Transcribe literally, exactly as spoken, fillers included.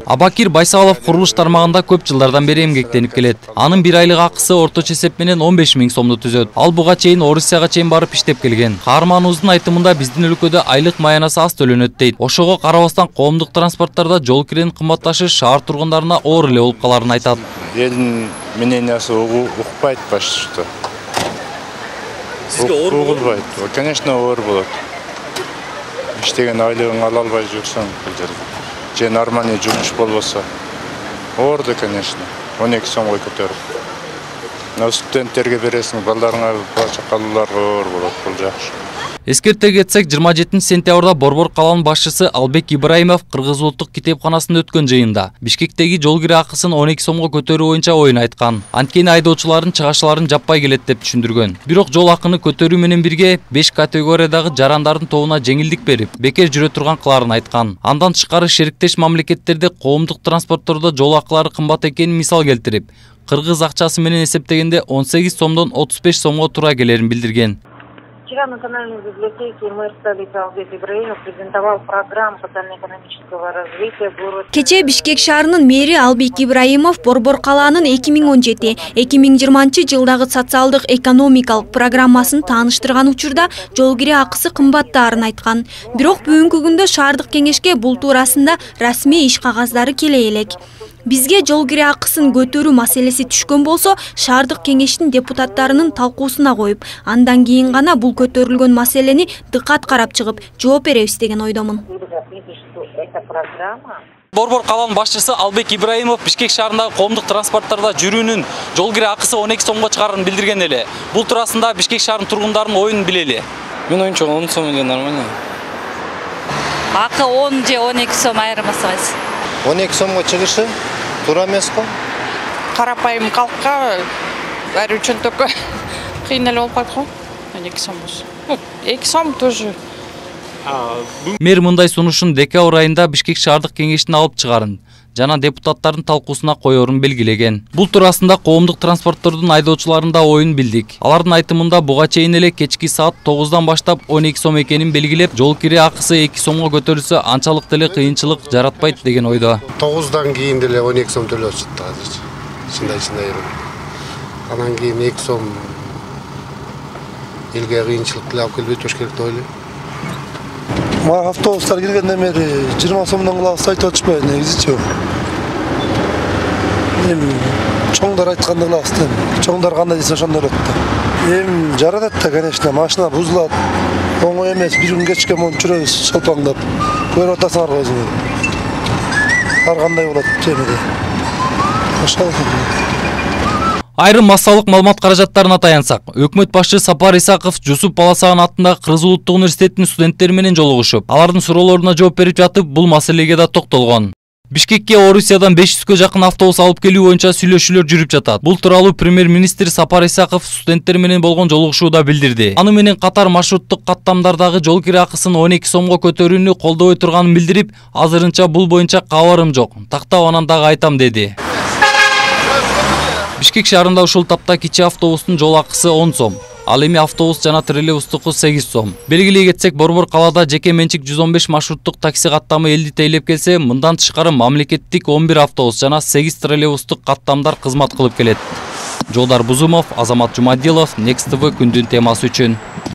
Абакир Байсалов курулуш тармагында көп жылдардан бери эмгектенип келет. Анын бир айлык акысы орточо эсеп менен он беш миң сомду түзөт. Ал буга чейин Орусияга чейин барып иштеп келген. Каарманыбыздын айтымында биздин өлкөдө айлык маянасы аз төлөнөт дейт. Ошого карабастан коомдук транспорттарда жол киренин кымбатташы шаар тургундарына оор эле болуп каларын айтат. Элдин мнениясы укпайт башта. Сизге оор болбойт. Конечно, оор болот. Иштеген айлыгын ала албай жүрсөң, же нормальный жумуш болбосо. Оорду, конечно. он эки сомго көтөрүп. Но студенттерге бересиң, балдарыңа чакалууларга оор болот, бул жакшы. Эскерте кетсек, жыйырма жетинчи сентябрда Борбор каланын башчысы Албек Ибраимов Кыргыз улуттук китепканасында өткөн жыйында Бишкектеги жол кире акысын он эки сомго көтөрүү боюнча оюн айткан. Анткени айдоочулардын чыгашларын жаппай келет деп түшүндүргөн. Бирок жол акыны көтөрүү менен бирге беш категориядагы жарандардын тобуна жеңилдик берип, бекер жүрө турган кыларын айткан. Андан тышкары шериктеш мамлекеттерде коомдук транспорттордо жол акылары кымбат экенин мисал келтирип, кыргыз акчасы менен эсептегенде он сегиз сомдон отуз беш сомго туура келерин билдирген. Вчера в Национальной библиотеке мэр столицы Албек Ибраимов презентовал программу социально-экономического развития города. Кече Бишкек шаарынын мэри Албек Ибраимов Борбор калаанын эки миң он жети эки миң жыйырманчы жылдагы социалдык экономикалык программасын тааныштырган учурда жол кире акысы кымбаттаарын айткан. Бирок бүгүнкү күндө шаардык кеңешке бул туурасында расмий иш кагаздары келе элек. Бизге жол кире акысын көтөрүү маселеси түшкөн болсо, шаардык кеңештин депутаттарынын талкуусуна коюп, андан кийин гана бул көтөрүлгөн маселени дыкат карап чыгып, жооп беребиз деген ойдомун. Борбор каланын башчысы Албек Ибраимов Бишкек шаарындагы коомдук транспорттарда жүрүүнүн жол кире акысы он эки сомго чыгарын билдирген эле. Бул туурасында Бишкек шаарынын тургундарынын оюн билели. Мен оюнча он сом эле нормально. Акы он же он эки сом айырмасы кайсы? он эки сомго чыгышы туура эмес го? Карапайым калкка баары чөнтөккө кыйын эле болуп калат го. он эки сом болсо. эки сом тоже. Мэр мындай сунушун декабрь айында Бишкек шаардык кеңештин алып чыгарын жана депутаттардын талкуусуна коерун белгилеген. Бул туурасында коомдук транспорттордун айдоочуларында оюн билдик. Алардын айтымында буга чейин эле кечки саат тогуздан баштап он эки сом экенин белгилеп, жол кире акысы эки сомго көтөрүлсө анчалык деле кыйынчылык жаратпайт деген ойдо. тогуздан кийин деле он эки сом төлөп чыкты азыр. Чындай-чындай. Анан кийин эки сом элге кыйынчылык деле алып келбей туруш керек деп ойлойм. Мага автобустар киргенден бери жыйырма сомдон кылабыз айтып атышпайбы негизичи. Эми чоңдор айтканды кылабыз да. Чоңдор кандай десе ошондой болот да. Эми жаратат да, конечно, машина бузулат. Оңой эмес, бир күн кечке монтип жүрөбүз шолпаңдап. Көрүп атасыңарбы өзүңөр. Ар кандай болот темеде. Ошол. Айрым массалык маалымат каражаттарына таянсак, өкмөт башчы Сапар Исаков Жусуп Баласаган атындагы Кыргыз улуттук университетинин студенттери менен жолугушуп, алардын суроолоруна жооп берип жатып, бул маселеге да токтолгон. Бишкекке Орусиядан беш жүзгө жакын автобус алып келүү боюнча сүйлөшүүлөр жүрүп жатат. Бул тууралуу премьер-министр Сапар Исаков студенттер менен болгон жолугушууда билдирди. Аны менен катар маршруттук каттамдардагы жол кире акысын он эки сомго көтөрүүнү колдобой турганын билдирип, азырынча бул боюнча кабарым жок. Тактап анан дагы айтам деди. Бишкек шаарында ушул тапта кичи автобустун жол акысы он сом. Ал эми автобус жана троллейбустуку сегиз сом. Белгилей кетсек, Борбор калаада жеке менчик жүз он беш маршруттук такси каттамы элди тейлеп келсе, мындан тышкары мамлекеттик он бир автобус жана сегиз троллейбустук каттамдар кызмат кылып келет. Жолдар Бузумов, Азамат Жумадилов, Next тэ вэ күндүн темасы үчүн.